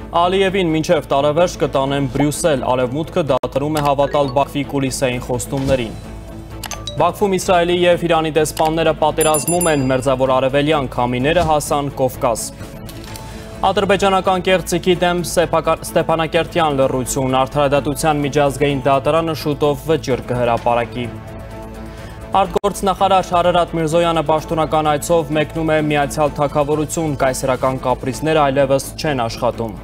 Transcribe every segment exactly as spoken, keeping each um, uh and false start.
Ալիևին մինչև տարեվերջ կտանեն Բրյուսել, Արևմուտքը դադարում է հավատալ Բաքվի կուլիսային խոստումներին։ Բաքվում Իսրայելի և Իրանի դեսպանները պատերազմում են, մերձավոր արևելյան քամիները հասան Կովկաս։ Ադրբեջանական կեղծիքի դեմ Ստեփանակերտյան լռություն, Արդարադատության միջազգային դատարանը շուտով վճիռ կհրապարակի։ Արտգործնախարար Արարատ Միրզոյանը պաշտոնական այցով մեկնում է Միացյալ Թագավորություն, կայսերական կապրիզները այլևս չեն աշխատում։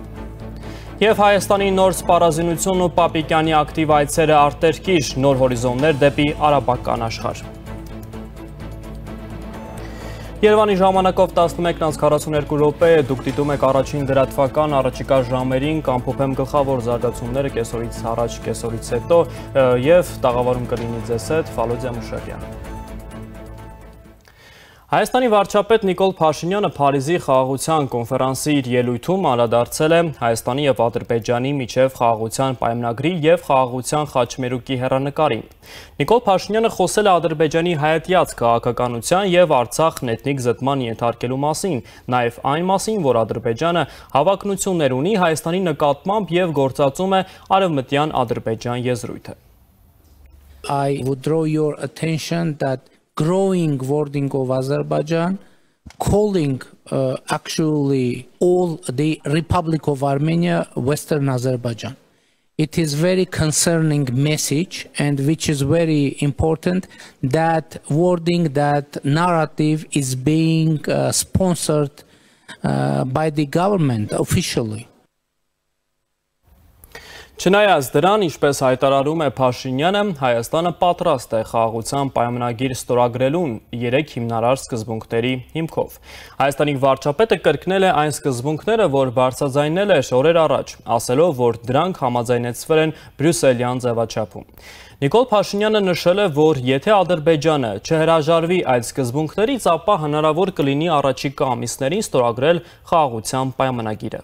Եվ Հայաստանի նոր սպառազինություն ու Պապիկյանի ակտիվ այցերը արտերկիր, նոր հորիզոններ դեպի արաբական աշխարհ։ Երևանի ժամանակով տասնմեկն քառասունյոթ րոպե է, դուք դիտում եք առաջին լրատվական առաջիկա ժամերին, կամփոփեմ գլխավոր զարգացումները կեսօրից առաջ, կեսօրից հետո եւ տաղավարում կլինի ձեզ հետ Ֆալոդիա Մուշակյան։ Հայաստանի վարչապետ Նիկոլ Փաշինյանը Փարիզի խաղաղության կոնֆերանսի իր ելույթում անդրադարձել է Հայաստանի եւ Ադրբեջանի միջև խաղաղության պայմանագրի եւ խաղաղության խաչմերուկի հեռանկարին։ Նիկոլ Փաշինյանը խոսել է Ադրբեջանի հայատյաց քաղաքականության եւ Արցախն էթնիկ զտման ենթարկելու մասին, նաեւ այն մասին, որ Ադրբեջանը հավակնություններ ունի Հայաստանի նկատմամբ եւ գործածում է արևմտյան Ադրբեջան եզրույթը։ I would draw your attention that growing wording of Azerbaijan, calling uh, actually all the Republic of Armenia Western Azerbaijan. It is very concerning message, and which is very important, that wording, that narrative is being uh, sponsored uh, by the government officially. Չնայած դրան, ինչպես հայտարարում է Փաշինյանը, Հայաստանը պատրաստ է խաղաղության պայմանագիր ստորագրելուն երեք հիմնարար սկզբունքների հիմքով։ Հայաստանի վարչապետը կրկնել է այն սկզբունքները, որ բարձրաձայնել էր օրեր առաջ, ասելով, որ դրանք համաձայնեցվել են բրյուսելյան ձևաչափում։ Նիկոլ Փաշինյանը նշել է, որ եթե Ադրբեջանը չհրաժարվի այդ սկզբունքներից, ապա հնարավոր կլինի առաջիկա ամիսներին ստորագրել խաղաղության պայմանագիրը։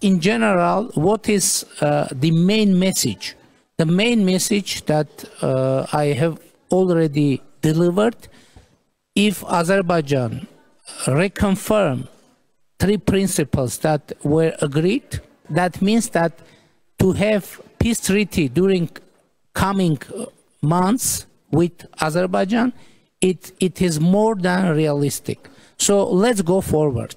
In general, what is uh, the main message? The main message that uh, I have already delivered, if Azerbaijan reconfirm three principles that were agreed, that means that to have peace treaty during coming months with Azerbaijan, it, it is more than realistic. So let's go forward.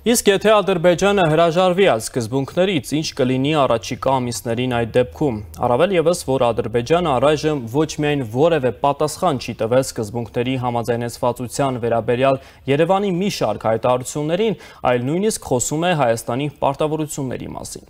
Իսկ եթե Ադրբեջանը հրաժարվի այդ սկզբունքներից, ինչ կլինի առաջիկա ամիսներին այդ դեպքում, առավել ևս, որ Ադրբեջանը առայժմ ոչ միայն որևէ պատասխան չի տվել սկզբունքների համաձայնեցվածության վերաբերյալ Երևանի մի շարք հայտարարություններին, այլ նույնիսկ խոսում է Հայաստանի պարտավորությունների մասին։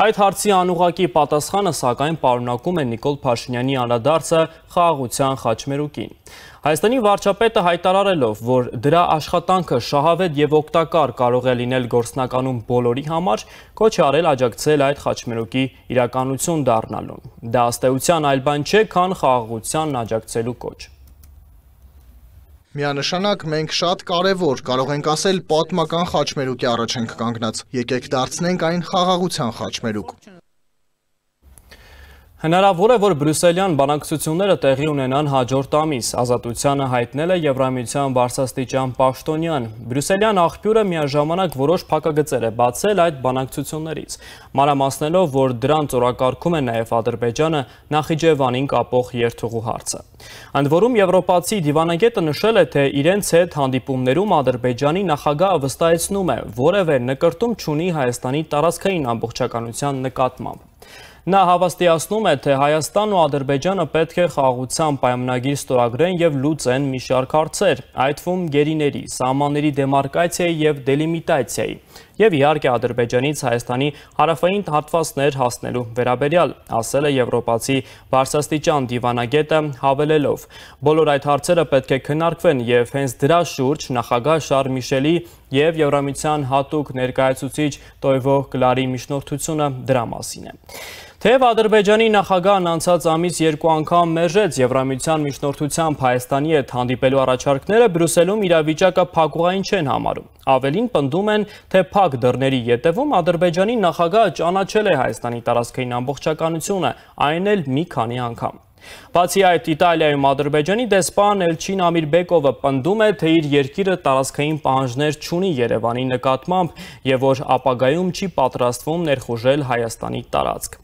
Այդ հարցի անուղղակի պատասխանը սակայն պարունակում է Նիկոլ Փաշինյանի անդրադարձը խաղաղության խաչմերուկին։ Հայաստանի վարչապետը հայտարարելով, որ դրա աշխատանքը շահավետ եւ օգտակար կարող է լինել գործնականում բոլորի համար, կոչ է արել աջակցել այդ խաչմերուկի իրականություն դառնալուն։ Դա ըստեյության այլ բան չէ, քան խաղաղությանն աջակցելու կոչ։ Միանշանակ մենք շատ կարևոր, կարող ենք ասել, պատմական խաչմերուկի առաջ ենք կանգնած։ Եկեք դարձնենք այն խաղաղության խաչմերուկ։ Հնարավոր է, որ բրյուսելյան բանակցությունները տեղի ունենան հաջորդ ամիս, Ազատությանը հայտնել է Եվրամիության բարձրաստիճան պաշտոնյան։ Բրյուսելյան աղբյուրը միաժամանակ որոշ փակագծեր է բացել այդ բանակցություններից, մանրամասնելով, որ դրանց օրակարգում է նաև Ադրբեջանը Նախիջևանին կապող երթուղու հարցը։ Ընդ որում եվրոպացի դիվանագետը նշել է, թե իրենց հետ հանդիպումներում Ադրբեջանի նախագահը վստահեցնում է, որևէ նկրտում չունի Հայաստանի տարածքային ամբողջականության նկատմամբ։ Նա հավաստիացնում է, թե Հայաստանն ու Ադրբեջանը պետք է խաղաղության պայմանագիր ստորագրեն եւ լուծեն մի շարք հարցեր, այդ թվում գերիների, սահմանների դեմարկացիայի եւ դելիմիտացիայի, եւ իհարկե Ադրբեջանից Հայաստանի հարավային հատվածներ հասնելու վերաբերյալ, ասել է եվրոպացի բարձրաստիճան դիվանագետը, հավելելով. բոլոր այդ հարցերը պետք է քննարկվեն եւ հենց դրա շուրջ նախագահ Շարլ Միշելի եւ Եվրամիության հատուկ ներկայացուցիչ Տոյվո Կլարի միջնորդությունը դրա մասին է։ Թեև Ադրբեջանի նախագահն անցած ամիս երկու անգամ մերժեց Եվրամիության միջնորդությամբ Հայաստանի հետ հանդիպելու առաջարկները, Բրյուսելում իրավիճակը փակուղային չեն համարում։ Ավելին պնդում են, թե փակ դռների ետևում Ադրբեջանի նախագահը ճանաչել է Հայաստանի տարածքային ամբողջականությունը, այն էլ մի քանի անգամ։ Բացի այդ, Իտալիայում Ադրբեջանի դեսպան Էլչին Ամիրբեկովը պնդում է, թե իր երկիրը տարածքային պահանջներ չունի Երևանի նկատմամբ և որ ապագայում չի պատրաստվում ներխուժել Հայաստանի տարածք։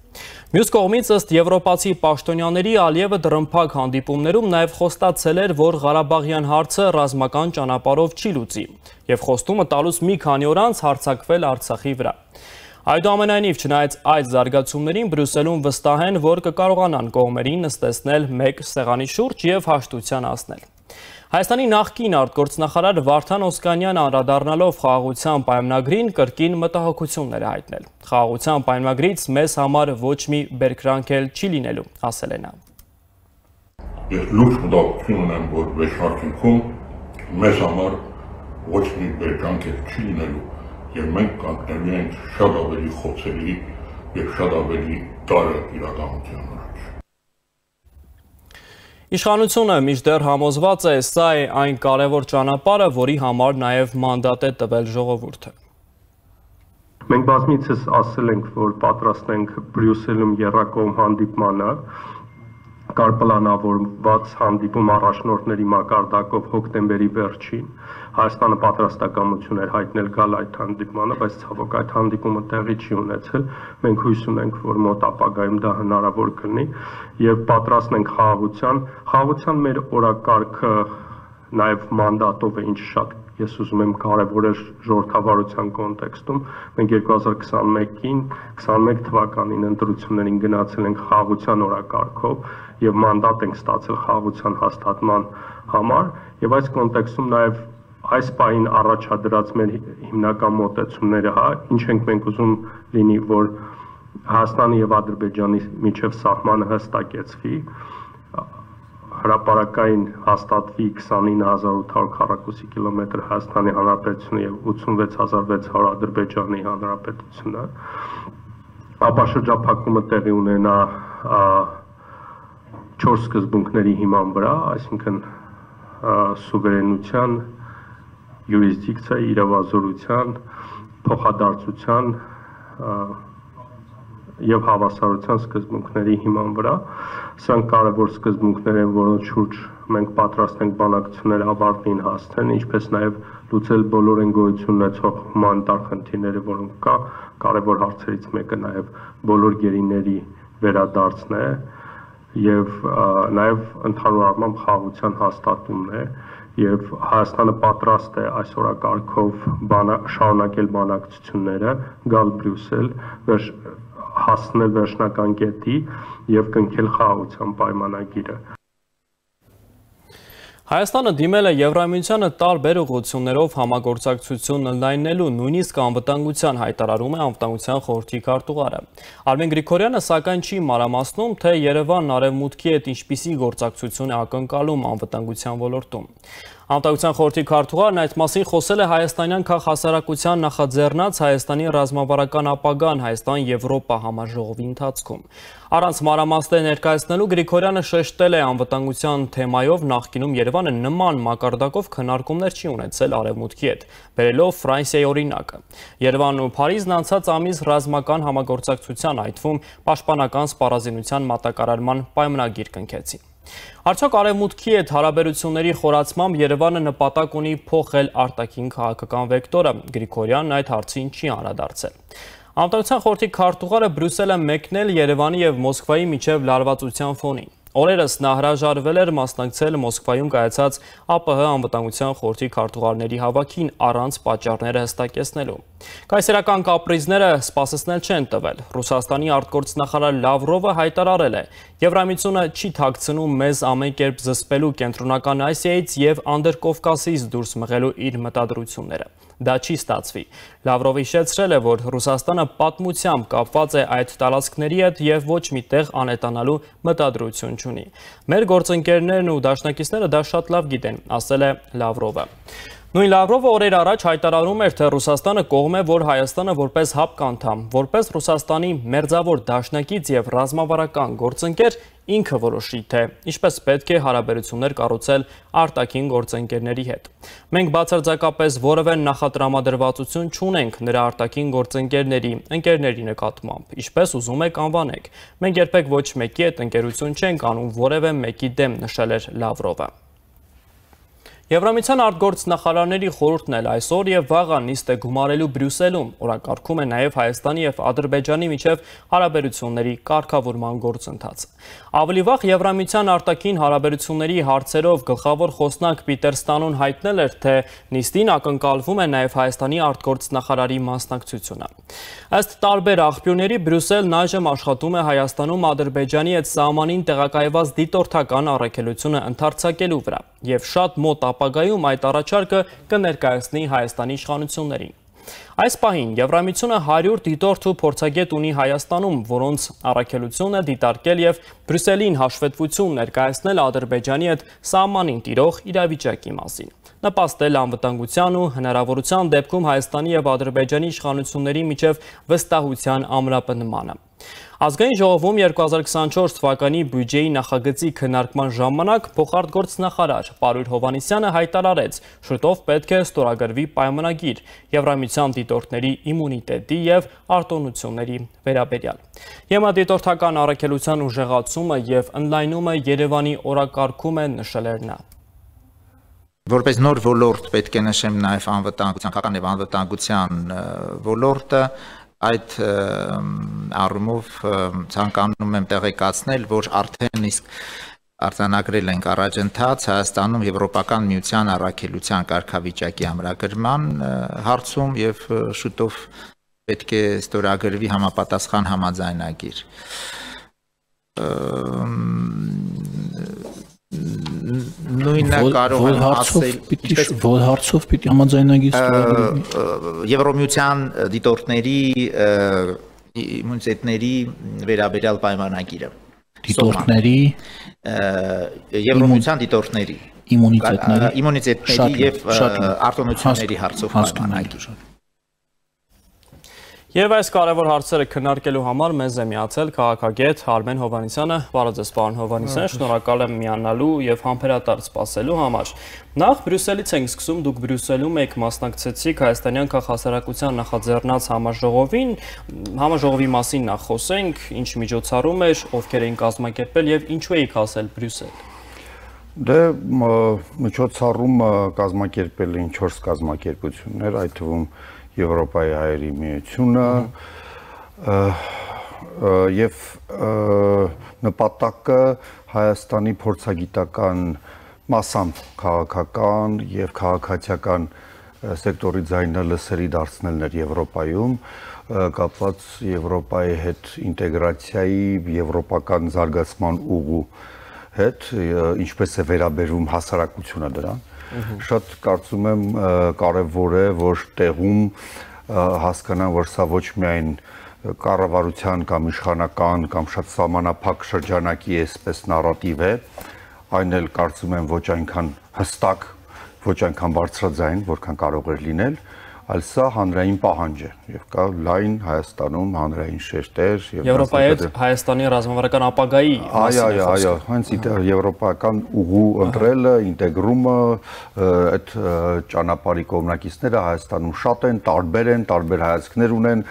Մյուս կողմից ըստ եվրոպացի պաշտոնյաների Ալիևը դռնփակ հանդիպումներում նաև խոստացել էր, որ Ղարաբաղյան հարցը ռազմական ճանապարհով չի լուծի և խոստումը տալուց մի քանի օր անց հարձակվել Արցախի վրա։ Այդուամենայնիվ, չնայած այդ զարգացումներին, Բրյուսելում վստահ են, որ կկարողանան կողմերին նստեցնել մեկ սեղանի շուրջ և հաշտության հասնել։ Հայաստանի նախկին արտգործնախարար Վարդան Օսկանյանը անդրադառնալով խաղաղության պայմանագրին կրկին մտահոգություններ է հայտնել։ Խաղաղության պայմանագրից մեզ համար ոչ մի բերկրանք էլ չի լինելու, ասել է նա։ Ես լուրջ մտահոգություն ունեմ, որ վերջնարկում մեզ համար ոչ մի բերկրանք էլ չի լինելու և մենք կանգնելու ենք շատ ավելի խոցելի և շատ ավելի տարը իրականության առաջ։ Իշխանությունը մինչդեռ համոզված է, սա է այն կարևոր ճանապարհը, որի համար նաև մանդատ է տվել ժողովուրդը։ Մենք բազմիցս ասել ենք, որ պատրաստ ենք Բրյուսելում եռակողմ հանդիպմանը, կար պլանավորված հանդիպում առաջնորդների մակարդակով հոկտեմբերի վերջին։ Հայաստանը պատրաստակամություն էր հայտնել գալ այդ հանդիպմանը, բայց ցավոք այդ հանդիպումը տեղի չի ունեցել։ Մենք հույս ունենք, որ մոտ ապագայում դա հնարավոր կլինի եւ պատրաստ ենք խաղաղության։ Խաղաղության մեր օրակարգը նաև մանդատով է, ինչը շատ ես ուզում եմ կարևորել ժողովրդավարության կոնտեքստում։ Մենք երկու հազար քսաներկին քսաներեք թվականին ընտրություններին գնացել ենք խաղաղության օրակարգով եւ մանդատ ենք ստացել խաղաղության հաստատման համար եւ այս կոնտեքստում նաեւ այս պահին առաջադրած մեր հիմնական մոտեցումները, հա, ինչ ենք մենք ուզում լինի, որ Հայաստանի եւ Ադրբեջանի միջև սահմանը հստակեցվի, հրապարակային հաստատվի քսանինը հազար ութ հարյուր քառակուսի կիլոմետր Հայաստանի Հանրապետությունը եւ ութսունվեց հազար վեց հարյուր Ադրբեջանի Հանրապետությունը, ապա շրջափակումը տեղի ունենա չորս սկզբունքների հիման վրա, այսինքն սուվերենության, յուրիսդիկցիայի, իրավազորության, փոխադարձության եւ հավասարության սկզբունքների հիման վրա։ Սրանք կարևոր սկզբունքներ են, որոնց շուրջ մենք պատրաստ ենք բանակցություններ ավարտին հասցնել, ինչպես նաեւ լուծել բոլոր են գոյություն ունեցող հումանիտար խնդիրները, որոնք կա, կարևոր հարցերից մեկը նաեւ բոլոր գերիների վերադարձն է եւ նաեւ ընդհանուր առմամբ խաղաղության հաստատումն է եւ Հայաստանը պատրաստ է այս օրակարգով շարունակել բանակցությունները, գալ Բրյուսել, հասնել վերջնական կետի եւ կնքել խաղաղության պայմանագիրը։ Հայաստանը դիմել է Եվրամիությանը տարբեր ուղղություններով համագործակցություն ընդլայնելու, նույնիսկ անվտանգության հայտարարում է Անվտանգության խորհրդի քարտուղարը։ Արմեն Գրիգորյանը սակայն չի մանրամասնում, թե Երևանն արևմուտքի հետ ինչպիսի գործակցություն է ակնկալում անվտանգության ոլորտում։ Անվտանգության խորհրդի քարտուղարն այդ մասին խոսել է հայաստանյան քաղաքահասարակության նախաձեռնած Հայաստանի ռազմավարական ապագան Հայաստան-Եվրոպա համաժողովի ընթացքում։ Առանց մանրամասներ ներկայացնելու Գրիգորյանը շեշտել է անվտանգության թեմայով նախկինում Երևանը նման մակարդակով քննարկումներ չի ունեցել արևմուտքի հետ, բերելով Ֆրանսիայի օրինակը։ Երևանն ու Փարիզն անցած ամիս ռազմական համագործակցության, այդ թվում պաշտպանական սպառազինության մատակարարման պայմանագիր կնքեցին։ Արդյոք արևմուտքի հետ հարաբերությունների խորացմամբ Երևանը նպատակ ունի փոխել արտաքին քաղաքական վեկտորը, Գրիգորյանն այդ հարցին չի անդրադարձել։ Անվտանգության խորհրդի քարտուղարը Բրյուսել է մեկնել Երևանի եւ Մոսկվայի միջև լարվածության ֆոնին։ Օրերս նա հրաժարվել էր մասնակցել Մոսկվայում կայացած ԱՊՀ անվտանգության խորհրդի քարտուղարների հավաքին առանց պատճառները հստակեցնելու։ Կայսերական կապրիզները սպասեցնել չեն տվել։ Ռուսաստանի արտգործնախարար Լավրովը հայտարարել է. Եվրամիությունը չի թաքցնում մեզ ամեն կերպ զսպելու Կենտրոնական Ասիայից եւ Անդրկովկասից դուրս մղելու իր մտադրությունները։ Դա չի ստացվի։ Լավրովը հիշեցրել է, որ Ռուսաստանը պատմությամբ կապված է այդ տարածքների հետ եւ ոչ մի տեղ անետանալու մտադրություն չունի։ Մեր գործընկերներն ու դաշնակիցները դա շատ լավ գիտեն, ասել է Լավրովը։ Նույն Լավրովը օրեր առաջ հայտարարում էր, թե Ռուսաստանը կողմ է, որ Հայաստանը որպես ՀԱՊԿ անդամ, որպես Ռուսաստանի մերձավոր դաշնակից եւ ռազմավարական գործընկեր ինքը որոշի, թե ինչպես պետք է հարաբերություններ կառուցել արտաքին գործընկերների հետ։ Մենք բացարձակապես որևէ նախատրամադրվածություն չունենք նրա արտաքին գործընկերների, ընկերների նկատմամբ, ինչպես ուզում եք անվանեք։ Մենք երբեք ոչ մեկի հետ ընկերություն չենք անում որևէ մեկի դեմ, նշել էր Լավրովը։ Եվրամիության արտգործնախարարների խորհուրդն էլ այսօր եւ վաղը նիստ է գումարելու Բրյուսելում, օրակարգում է նաեւ Հայաստանի եւ Ադրբեջանի միջև հարաբերությունների կարգավորման գործընթացը։ Ավելի վաղ Եվրամիության արտաքին հարաբերությունների հարցերով գլխավոր խոսնակ Պիտեր Ստանոն հայտնել էր, թե նիստին ակնկալվում է նաեւ Հայաստանի արտգործնախարարի մասնակցությունը։ Ըստ տարբեր աղբյուրների Բրյուսելն այժմ աշխատում է Հայաստանում Ադրբեջանի հետ սահմանին տեղակայված դիտորդական առաքելությունը ընդարձակելու վրա եւ շատ մոտ ապագայում այդ առաջարկը կներկայացնի Հայաստանի իշխանություններին։ Այս պահին Եվրամիությունը հարյուր դիտորդ ու փորձագետ ունի Հայաստանում, որոնց առաքելությունը դիտարկել եւ Բրյուսելին հաշվետվություն ներկայացնել Ադրբեջանի հետ սահմանին տիրող իրավիճակի մասին, նպաստել անվտանգության ու հնարավորության դեպքում Հայաստանի եւ Ադրբեջանի իշխանությունների միջև վստահության ամրապնդմանը։ Ազգային ժողովում երկու հազար քսանչորս թվականի բյուջեի նախագծի քննարկման ժամանակ փոխարտգործնախարար Պարույր Հովհաննիսյանը հայտարարեց, շուտով պետք է ստորագրվի պայմանագիր Եվրամիության դիտորդների իմունիտետի եւ արտոնությունների վերաբերյալ։ Եմադիտորդական առաքելության ուժեղացումը եւ ընդլայնումը Երևանի օրակարգում է, նշել էր նա։ Որպես նոր ոլորտ պետք է նշեմ նաև անվտանգության, քաղաքական եւ անվտանգության ոլորտը, այդ առումով ցանկանում եմ տեղեկացնել, որ արդեն իսկ արձանագրել ենք առաջընթաց Հայաստանում Եվրոպական միության առաքելության կարգավիճակի ամրագրման հարցում եւ շուտով պետք է ստորագրվի համապատասխան համաձայնագիր։ Նույնը կարող եմ ասել, որ հարցով պիտի համաձայնագիր ստորագրվի Եվրոմիության դիտորդների իմունիտետների վերաբերյալ պայմանագիրը։ Դիտորդների Եվրոմիության դիտորդների իմունիտետների իմունիտետների եւ արտոնությունների հարցով պայմանագիր։ Եվ այս կարևոր հարցերը քննարկելու համար մեզ է միացել քաղաքագետ Արմեն Հովհաննիսյանը։ Բարև ձեզ, պարոն Հովհաննիսյան, շնորհակալ եմ միանալու եւ համբերատար սպասելու համար։ Նախ Բրյուսելից ենք սկսում, դուք Բրյուսելում եք մասնակցեցիք հայաստանյան քաղաքասարակության նախաձեռնած համաժողովին, համաժողովի մասին նախ խոսենք, ինչ միջոցառում էր, ովքեր էին կազմակերպել եւ ինչու եք հասել Բրյուսել։ Դե միջոցառումը կազմակերպել էին չորս կազմակերպություններ, այդ թվում Եվրոպայի հայերի միությունը եւ նպատակը Հայաստանի փորձագիտական մասամբ քաղաքական եւ քաղաքացիական սեկտորի ձայնը լսելի դարձնելն էր Եվրոպայում, կապված Եվրոպայի հետ ինտեգրացիայի, եվրոպական զարգացման ուղու հետ, ինչպես է վերաբերվում հասարակությունը դրան։ Շատ կարծում եմ կարևոր է, որ տեղում հասկանան, որ սա ոչ միայն կառավարության կամ իշխանական կամ շատ սահմանափակ շրջանակի այսպես նարատիվ է, այն էլ կարծում եմ ոչ այնքան հստակ, ոչ այնքան բարձրաձայն, որքան կարող էր լինել, այլ սա հանրային պահանջ է եւ կա լայն Հայաստանում հանրային շերտեր եւ Եվրոպայի հետ Հայաստանի ռազմավարական ապագայի Այո, այո, այո, հենց եվրոպական ուղու ընտրելը, ինտեգրումը, այդ ճանապարհի կողմնակիցները Հայաստանում շատ են, տարբեր են, տարբեր հայացքներ ունեն,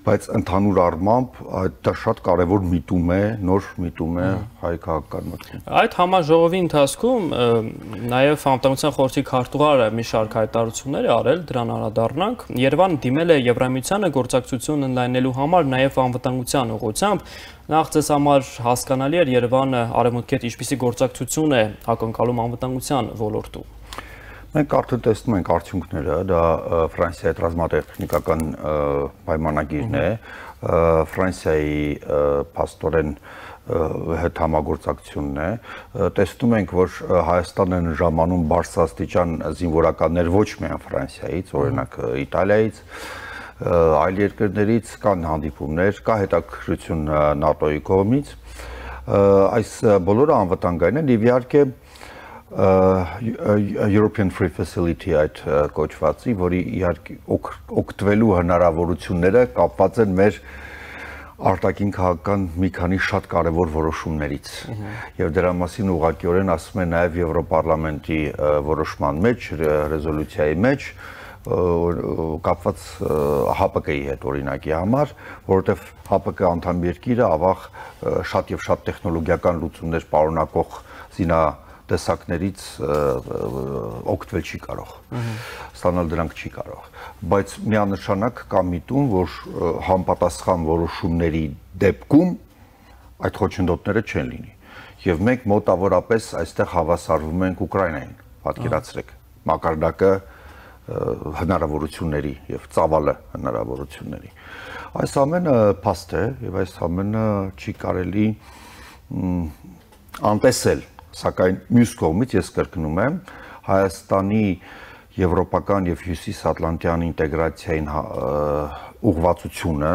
բայց ընդհանուր առմամբ դա շատ կարևոր միտում է, նոր միտում է հայ քաղաքական մտքում։ Այդ համաժողովի ընթացքում նաև Անվտանգության խորհրդի քարտուղարը մի շարք հայտարարություններ է արել, դրան անդրադառնանք։ Երևան դիմել է Եվրամիությանը գործակցություն ընդլայնելու համար նաև անվտանգության ուղղությամբ։ Նախ ձեզ համար հասկանալի էր Երևանը արևմուտքի հետ ինչպիսի գործակցություն է ակնկալում անվտանգության ոլորտում։ Մենք արդեն տեսնում ենք արդյունքները, դա Ֆրանսիայի հետ ռազմատեխնիկական պայմանագիրն է, Ֆրանսիայի փաստորեն հետ համագործակցությունն է, տեսնում ենք, որ Հայաստան են ժամանում բարձրաստիճան զինվորականներ ոչ միայն Ֆրանսիայից, օրինակ Իտալիայից, այլ երկրներից կան հանդիպումներ, կա հետաքրքրություն ՆԱՏՕ-ի կողմից, այս բոլորը անվտանգային են եւ իհարկե European Free Facility այդ կոչվածի, որի իհարկե օգտվելու հնարավորությունները կապված են մեր արտաքին քաղաքական մի քանի շատ կարևոր որոշումներից եւ դրա մասին ուղղակիորեն ասում է նաեւ Եվրոպարլամենտի որոշման մեջ, ռեզոլյուցիայի մեջ կապված H P K-ի հետ օրինակի համար, որովհետեւ H P K անդամ երկիրը ավաղ շատ եւ շատ տեխնոլոգիական լուծումներ պարունակող զինա տեսակներից օգտվել չի կարող, ստանալ դրանք չի կարող, բայց միանշանակ կա միտում, որ համապատասխան որոշումների դեպքում այդ խոչընդոտները չեն լինի, եւ մենք մոտավորապես այստեղ հավասարվում ենք Ուկրաինային, պատկերացրեք, մակարդակը հնարավորությունների եւ ծավալը հնարավորությունների։ Այս ամենը փաստ է եւ այս ամենը չի կարելի անտեսել, սակայն մյուս կողմից ես կրկնում եմ Հայաստանի եվրոպական եւ հյուսիսատլանտյան ինտեգրացիային ուղղվածությունը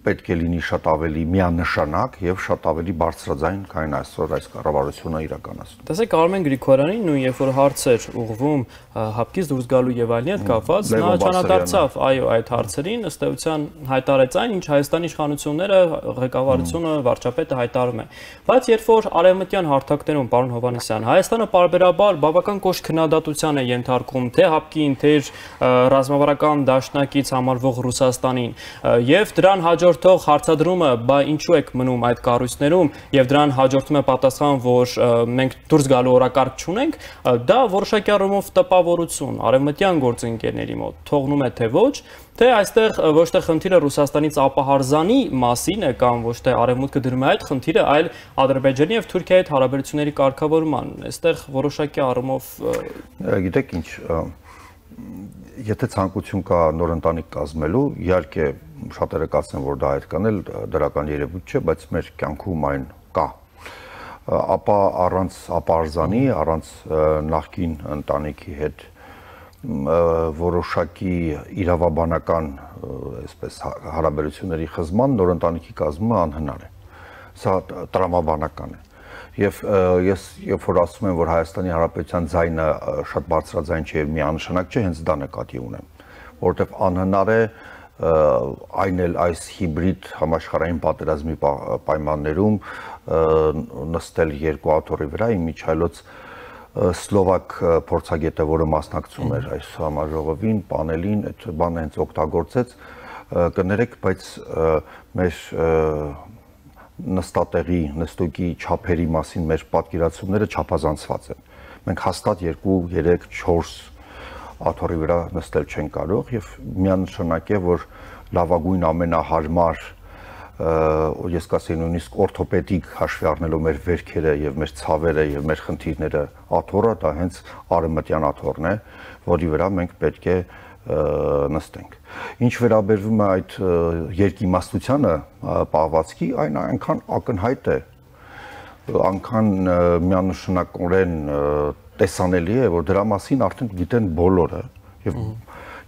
պետք է լինի շատ ավելի միանշանակ եւ շատ ավելի բարձրաձայն, քան այսօր այս կառավարությունը իրականացնում։ Տեսեք Արմեն Գրիգորյանին նույն երբ որ հարցեր ուղղվում հապկից դուրս գալու եւ այլնի հետ կապված, նա չանադարձավ այո այդ հարցերին, ըստ էության հայտարարեց այն, ինչ Հայաստանի իշխանությունները, ղեկավարությունը, վարչապետը հայտարարում է։ Բայց երբ որ արևմտյան հարթակներում, պարոն Հովհաննիսյան, Հայաստանը պարբերաբար բավական կոշտ քննադատության է ենթարկում թե հապկին, թե ռազմավարական դաշնակից համարվող Ռուսաստանին եւ դրան հաջորդող հարցադրումը, բա ինչու եք մնում այդ կառույցներում եւ դրան հաջորդում է պատասխան, որ մենք դուրս գալու օրակարգ չունենք, դա որոշակի առումով տպավորություն արևմտյան գործընկերների մոտ թողնում է թե ոչ, թե այստեղ ոչ թե խնդիրը Ռուսաստանից ապահարզանի մասին է կամ ոչ թե արևմուտքը դրում է այդ խնդիրը, այլ Ադրբեջանի եւ Թուրքիայի հետ հարաբերությունների կարգավորման, այստեղ որոշակի առումով գիտեք ինչ, եթե ցանկություն կա նոր ընտանիք կազմելու, իհարկե շատերը կասեն, որ դա այդ կանել դրական երևույթ չէ, բայց մեր կյանքում այն կա, ապա առանց ապարզանի, առանց նախկին ընտանիքի հետ որոշակի իրավաբանական այսպես հարաբերությունների խզման նոր ընտանիքի կազմումը անհնար է, սա տրամաբանական է։ Եվ ես երբ որ ասում եմ, որ Հայաստանի Հանրապետության ձայնը շատ բարձրաձայն չէ եւ միանշանակ չէ, հենց դա նկատի ունեմ, որովհետեւ անհնար է այն էլ այս հիբրիդ համաշխարհային պատերազմի պայմաններում նստել երկու աթոռի վրա, իմիջայլոց Սլովակ փորձագետը, որը մասնակցում էր այս համաժողովին, պանելին, այդ բանը հենց օգտագործեց, կներեք, բայց մեր նստատեղի, նստուկի չափերի մասին մեր պատկերացումները չափազանցված են։ Մենք հաստատ երկու, երեք, չորս աթոռի վրա նստել չեն կարող եւ միանշանակ է, որ լավագույն ամենահարմար, ես կասեի նույնիսկ օրթոպեդիկ հաշվի առնելով մեր վերքերը եւ մեր ցավերը եւ մեր խնդիրները աթոռը, դա հենց արևմտյան աթոռն է, որի վրա մենք պետք է նստենք։ Ինչ վերաբերվում է այդ երկիմաստությանը պահվածքի, այն այնքան ակնհայտ է, այնքան միանշանակորեն տեսանելի է, որ դրա մասին արդեն գիտեն բոլորը եւ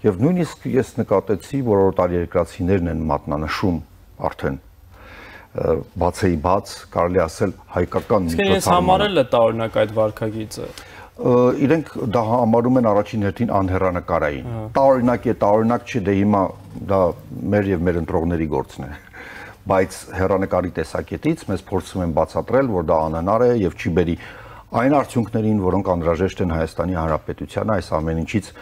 եւ նույնիսկ ես նկատեցի, որ օտարերկրացիներն են մատնանշում արդեն բացեի բաց, կարելի ասել հայկական միջոցառում։ Իսկ համարել է տարօրինակ այդ վարքագիծը։ Իրենք դա համարում են առաջին հերթին անհեռանկարային։ Տարօրինակ է, տարօրինակ չի, դե հիմա դա մեր եւ մեր ընտրողների գործն է։ Բայց հեռանկարի տեսակետից մեզ փորձում են բացատրել, որ դա անհնար է եւ չի բերի այն արդյունքներին, որոնք անհրաժեշտ են Հայաստանի Հանրապետությանը այս ամեն ինչից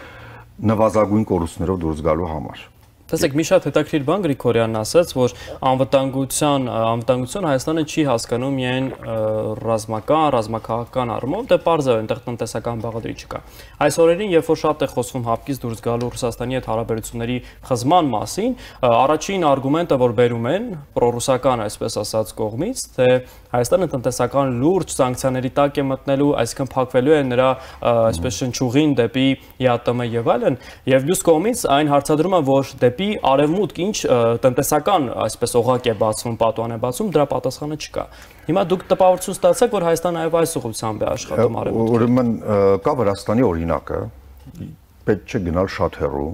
նվազագույն կորուստներով դուրս գալու համար։ Տեսեք, մի շատ հետաքրքիր բան Գրիգորյանն ասաց, որ անվտանգության անվտանգություն Հայաստանը չի հասկանում միայն ռազմական, ռազմաքաղաքական առումով, դե պարզ է, այնտեղ տնտեսական բաղադրիչ չկա։ Այս օրերին, երբ որ շատ է խոսվում հապկից դուրս գալու Ռուսաստանի հետ հարաբերությունների խզման մասին, առաջին արգումենտը, որ բերում են պրոռուսական, այսպես ասած, կողմից, թե Հայաստանը տնտեսական լուրջ սանկցիաների տակ է մտնելու, այսինքն փակվելու է նրա այսպես շնչուղին դեպի ԵԱՏՄ եւ այլն, եւ մյուս կողմից այն հարցադրումը, որ դեպի արևմուտք ինչ տնտեսական այսպես օղակ է բացվում, պատուհան է բացվում, դրա պատասխանը չկա։ Հիմա դուք տպավորություն ստացաք, որ Հայաստանը այո այս ուղղությամբ է աշխատում արևմուտքը։ Ուրեմն կա Վրաստանի օրինակը, պետք չէ գնալ շատ հեռու։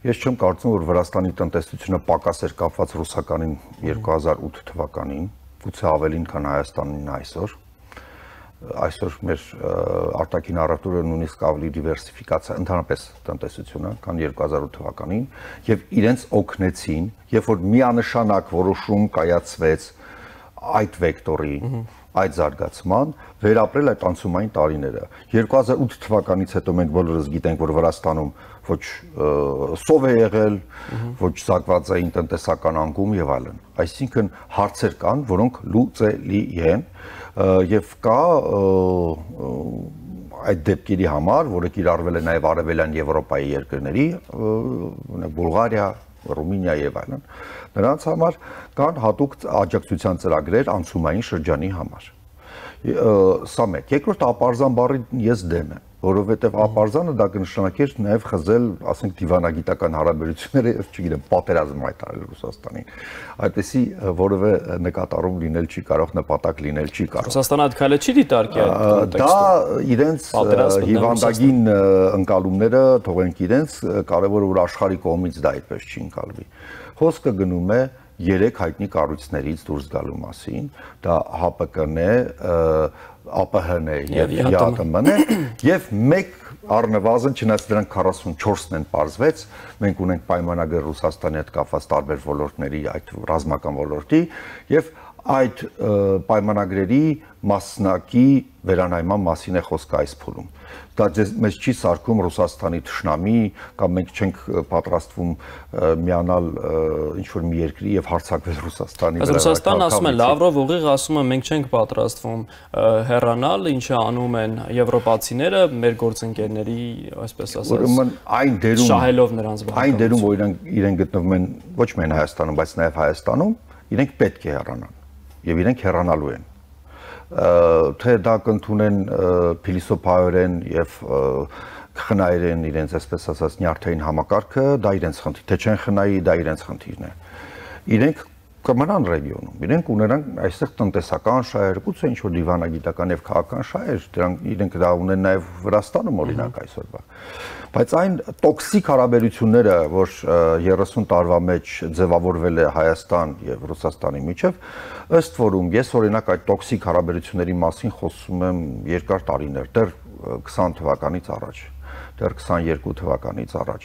Ես չեմ կարծում, որ Վրաստանի տնտեսությունը պակաս էր կապված ռուսականին երկու հազար ութ թվականին, գուցե ավելին, քան Հայաստանին այսօր։ այսօր մեր արտաքին առևտուրը նույնիսկ ավելի դիվերսիֆիկացիա ընդհանրապես տնտեսությունը, քան երկու հազար ութ թվականին, եւ իրենց օգնեցին, երբ որ միանշանակ որոշում կայացվեց այդ վեկտորի, այդ զարգացման, վերապրել այդ անցումային տարիները։ երկու հազար ութ թվականից հետո մենք բոլորս գիտենք, որ Վրաստանում ոչ սով է եղել, ոչ զարգված էին տնտեսական անկում եւ այլն։ Այսինքն հարցեր կան, որոնք լուծելի են եւ կա այդ դեպքերի համար, որը կիրառվել է նաեւ արևելյան Եվրոպայի երկրների, օրինակ Բուլղարիա, Ռումինիա եւ այլն, նրանց համար կան հատուկ աջակցության ծրագրեր անցումային շրջանի համար։ Սա մեկ։ Երկրորդ ապարզան բառին ես դեմ եմ, որովհետև ապարզանը դա կնշանակեր նաև խզել, ասենք, դիվանագիտական հարաբերությունները, չգիտեմ, պատերազմ հայտարարել Ռուսաստանին։ Այդպեսի որևէ նկատառում լինել չի կարող, նպատակ լինել չի կարող։ Ռուսաստանը այդ քայլը չի դիտարկի այդ կոնտեքստում։ Դա իրենց հիվանդագին ընկալումները թողենք իրենց, կարևորը որ աշխարհի կողմից դա այդպես չի ընկալվի։ Խոսքը գնում է երեք հայտնի կառույցներից դուրս գալու մասին, դա Հ Պ Կ-ն է, Ա Պ Հ-ն է եւ Յ Տ Մ-ն է, եւ մեկ առնվազն, չնայած դրանք քառասունչորսն են պարզվեց, մենք ունենք պայմանագիր Ռուսաստանի հետ կապված տարբեր ոլորտների, այդ ռազմական ոլորտի, եւ այդ պայմանագրերի մասնակի վերանայման մասին է խոսքը այս փուլում։ Դա մեզ չի սարքում Ռուսաստանի թշնամի կամ մենք չենք պատրաստվում միանալ ինչ-որ մի երկրի եւ հարձակվել Ռուսաստանի վրա։ Ռուսաստանը ասում է, Լավրով ուղիղ ասում է, մենք չենք պատրաստվում հեռանալ, ինչը անում են եվրոպացիները մեր գործընկերների, այսպես ասած, ուրեմն այն դերում շահելով նրանց վրա։ Այն դերում, որ իրենք իրենք գտնվում են ոչ միայն Հայաստանում, բայց նաեւ Հայաստանում, իրենք պետք է հեռանան եւ իրենք հեռանալու են։ Թե դա կընդունեն փիլիսոփայորեն եւ խնայեն իրենց, այսպես ասած, նյարդային համակարգը, դա իրենց խնդիր, թե չեն խնայի, դա իրենց խնդիրն է։ Իրենք կմնան ռեգիոնում, իրենք ունենան այստեղ տնտեսական շահեր, գուցե ինչ-որ դիվանագիտական եւ քաղաքական շահեր, դրանք իրենք դա ունեն նաեւ Վրաստանում օրինակ այսօրվա։ Բայց այն տոքսիկ հարաբերությունները, որ երեսուն տարվա մեջ ձևավորվել է Հայաստան եւ Ռուսաստանի միջեւ, ըստ որում ես օրինակ այդ տոքսիկ հարաբերությունների մասին խոսում եմ երկար տարիներ, դեռ քսան թվականից առաջ, դեռ քսաներկու թվականից առաջ։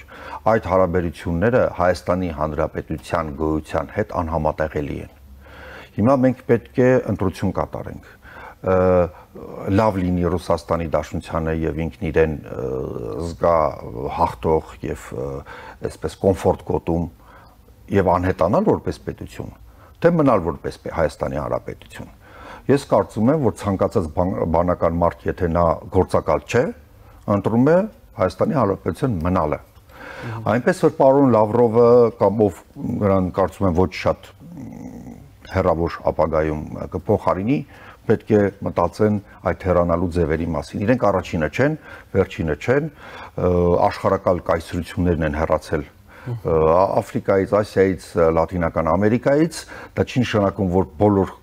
Այդ հարաբերությունները Հայաստանի Հանրապետության գոյության հետ անհամատեղելի են։ Հիմա մենք պետք է ընտրություն կատարենք։ Լավ լինի Ռուսաստանի Դաշնությանը եւ ինքն իրեն զգա հաղթող եւ այսպես կոմֆորտ գոտում եւ անհետանալ որպես պետություն, թե մնալ որպես Հայաստանի Հանրապետություն։ Ես կարծում եմ, որ ցանկացած բանական մարդ, եթե նա գործակալ չէ, ընտրում է Հայաստանի Հանրապետության մնալը։ Այնպես որ պարոն Լավրովը կամ ով նրան կարծում եմ ոչ շատ հեռավոր ապագայում կփոխարինի, պետք է մտածեն այդ հեռանալու ձևերի մասին։ Իրենք առաջինը չեն, վերջինը չեն, աշխարհակալ կայսրություններն են հեռացել Աֆրիկայից, Ասիայից, Լատինական Ամերիկայից, դա չի նշանակում, որ բոլոր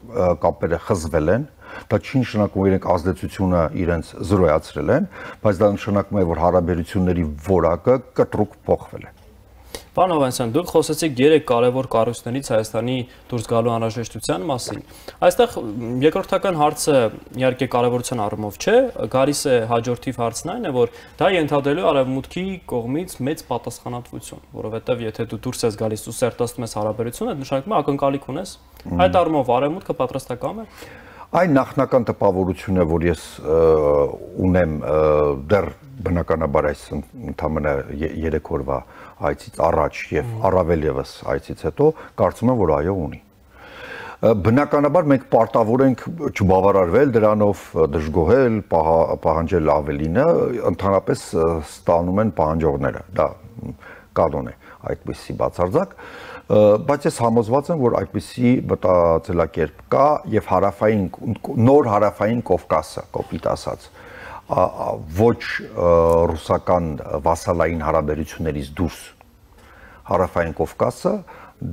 կապերը խզվել են, դա չի նշանակում, որ իրենք ազդեցությունը իրենց զրոյացրել են, բայց դա նշանակում է, որ հարաբերությունների որակը կտրուկ փոխվել է։ Պարոն Հովհաննիսյան, դուք խոսեցիք երեք կարևոր կառույցներից Հայաստանի դուրս գալու անհրաժեշտության մասին։ Այստեղ երկրորդական հարցը իհարկե կարևորության առումով չէ, գալիս է հաջորդիվ հարցն այն է, որ դա ենթադրելու արևմուտքի կողմից մեծ պատասխանատվություն, որովհետև եթե դու դուրս ես գալիս ու սերտացնում ես հարաբերությունը, դա նշանակում է ակնկալիք ունես։ Այդ առումով արևմուտքը պատրաստակամ է։ Այն նախնական տպավորությունը, որ ես ունեմ դեռ բնականաբար այս ընդամենը երեք օրվա այցից առաջ եւ առավել եւս այցից հետո, կարծում եմ, որ այո ունի։ Բնականաբար մենք պարտավոր ենք չբավարարվել դրանով, դժգոհել, պահանջել ավելինը, ընդհանրապես ստանում են պահանջողները։ Դա կանոն է, այդպիսի բացարձակ, բայց ես համոզված եմ, որ այդպիսի մտածելակերպ կա եւ հարավային նոր հարավային Կովկասը, կոպիտ ասած, ոչ ռուսական վասալային հարաբերություններից դուրս հարավային Կովկասը,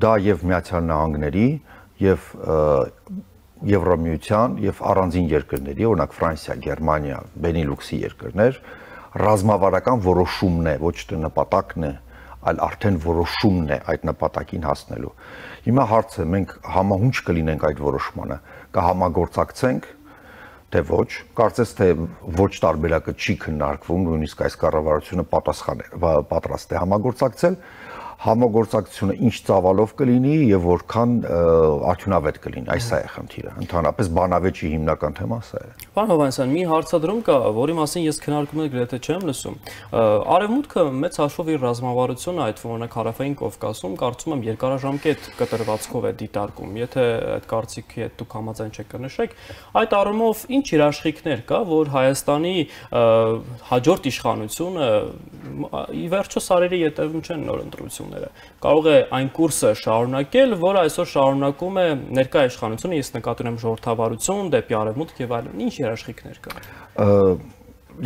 դա եւ Միացյալ Նահանգների եւ Եվրամիության եւ առանձին երկրների, օրինակ Ֆրանսիա, Գերմանիա, Բենիլուքսի երկրներ, ռազմավարական որոշումն է, ոչ թե նպատակն է, այլ արդեն որոշումն է այդ նպատակին հասնելու։ Հիմա հարցը մենք համահունչ կլինենք այդ որոշմանը, կհամագործակցենք, թե ոչ, կարծես թե ոչ տարբերակը չի քննարկվում, նույնիսկ այս կառավարությունը պատասխան է, պատրաստ է համագործակցել, համագործակցությունը ինչ ծավալով կլինի եւ որքան արդյունավետ կլինի, այս է խնդիրը։ Ընդհանրապես բանավեճի հիմնական թեման սա է։ Պարոն Հովհաննիսյան, մի հարցադրում կա, որի մասին ես քննարկումներ գրեթե չեմ լսում։ Արևմուտքը մեծ հաշվով իր ռազմավարությունը, այդ օրինակ Հարավային Կովկասում, կարծում եմ երկարաժամկետ կտրվածքով է դիտարկում։ Եթե այդ կարծիքի հետ դուք համաձայն չեք կնշեք, այդ առումով ինչ երաշխիքներ կա, որ Հայաստանի հաջորդ իշխանությունը ի վերջո սարերի ետևում չեն նոր ընտրությունները։ Կարող է այն կուրսը շարունակել, որը այսօր շարունակում է ներկա իշխանությունը, ես նկատի ունեմ ժողովրդավարություն, դեպի արևմուտք եւ այլն։ Ինչ երաշխիքներ կան։